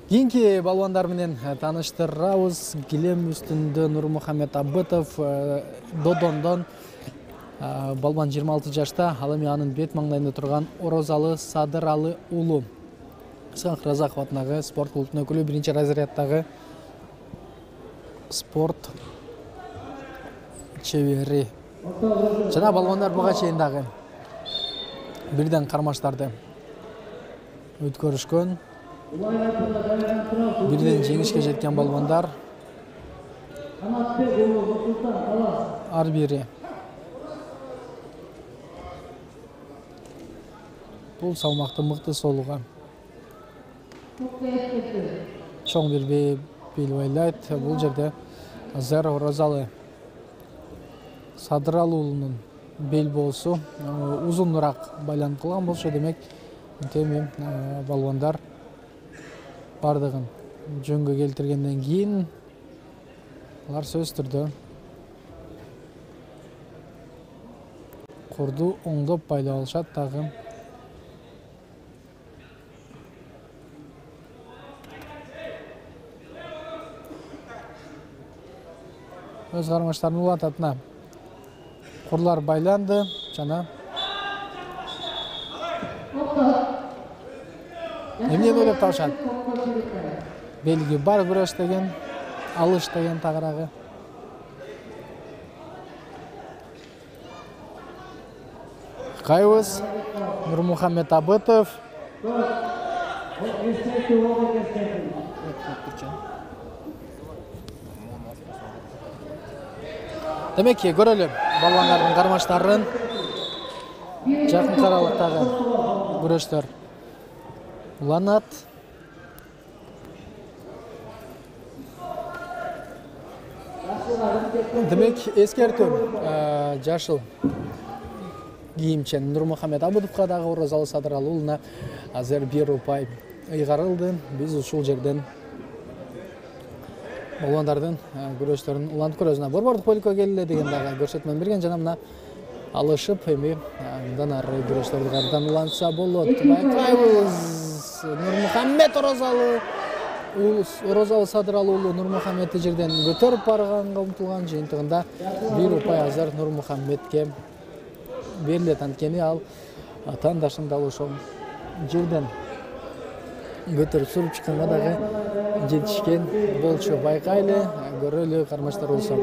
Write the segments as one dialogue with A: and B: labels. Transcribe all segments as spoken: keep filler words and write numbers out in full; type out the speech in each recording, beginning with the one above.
A: Кийинки балбандар менен тааныштырабыз. Килем үстүндө Нурмухаммед Абытов Додондон балбан жыйырма алты жашта, ал эми анын бет маңдайында турган Орозалы Садыралы уулу. Исхак Разаков атындагы спорт клубунун өкүлү, биринчи разряддагы спорт чебери. Жана балбандар буга чейин дагы бирден кармаштарды өткөрүшкөн. Бирден жеңишке жеткен балбандар. Ар бири бул салмакты мыкты соолуга чоң бир бел байлайт. Бул жерде азыр Орозалы Садыралы уулунун бел боосу узунураак байланып калган болчу, демек теми балбандар бардыгын жөнгө келтиргенден кийин алар сөзсүз түрдө корду оңдоп байлап алышат дагы. Өз кармаштарын улантатына курлар байланды жана эмнени ойлоп табышат? Белги бар күрөш деген, алыш деген тагыраагы. Кайбыз Нурмухаммед Абытов. Демек, көрөлү балбандардын кармаштарын. Жакын аралыктагы күрөштөр уланат. Демек, эскертүү жашыл кийимчен Нурмухаммед Абытовго дагы Орозалы Садыралы уулуна азыр бир упай ыйгарылды. Биз ушул жерден балбандардын күрөштөрүн улантып көрөбүз. Борбордук бөлүккө келе деген дагы көрсөтмө берген, жана мына алышып эми мындан ары күрөштөрдү кайрадан улантса болот. Байкайбыз Нурмухаммед Орозалы Орозалы Садыралы уулу Нурмухаммедти жерден көтөрүп барганга умтулган, жыйынтыгында бир упай азыр Нурмухаммедке берилет. Анткени ал атаандашын дал ошол жерден көтөрүп суруп чыкканга дагы жетишкен болчу. Байкайлы, көрөлү кармаштар болсо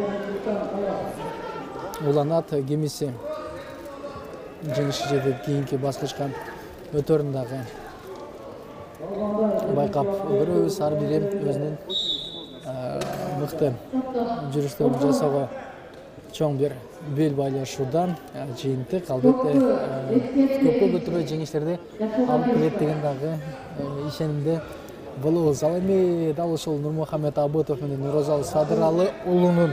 A: уланат, кимиси жеңишке жетип кийинки баскычка өтөрүн дагы байкап көрөбүз. Ар бири өзүнүн мыкты жүрүштөрүн жасоого чоң бир бел байлашуудан жыйынтык албетте көпкө көтөрбөй жеңиштерди алып келет деген дагы ишенимде болобуз. Ал эми дал ушул Нурмухаммед Абытов менен Орозалы Садыралы уулунун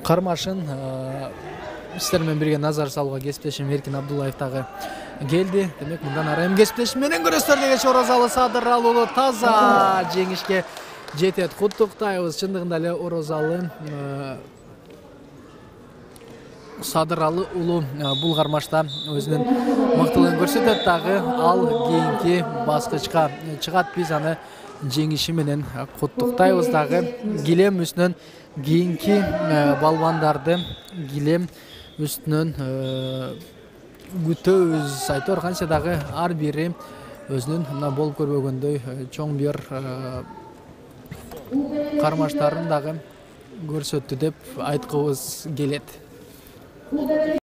A: кармашын сиздер менен бирге назар салууга кесиптешим Эркин Абдуллаев дагы келди. Демек, мындан ары эми кесиптешим менен көрөсүздөр дегенче Орозалы Садыралы уулу таза жеңишке жетет. Куттуктайбыз. Чындыгында эле Орозалы Садыралы уулу бул кармашта өзүнүн мыктылыгын көрсөтөт дагы. Ал кийинки баскычка чыгат. Биз аны жеңиши менен куттуктайбыз дагы. Килем үстүнөн кийинки балбандарды килем үстүнөн күтөбүз. Айтор канча дагы ар бири өзүнүн мына болуп көрбөгөндөй чоң бир кармаштарын дагы көрсөттү деп айткыбыз келет.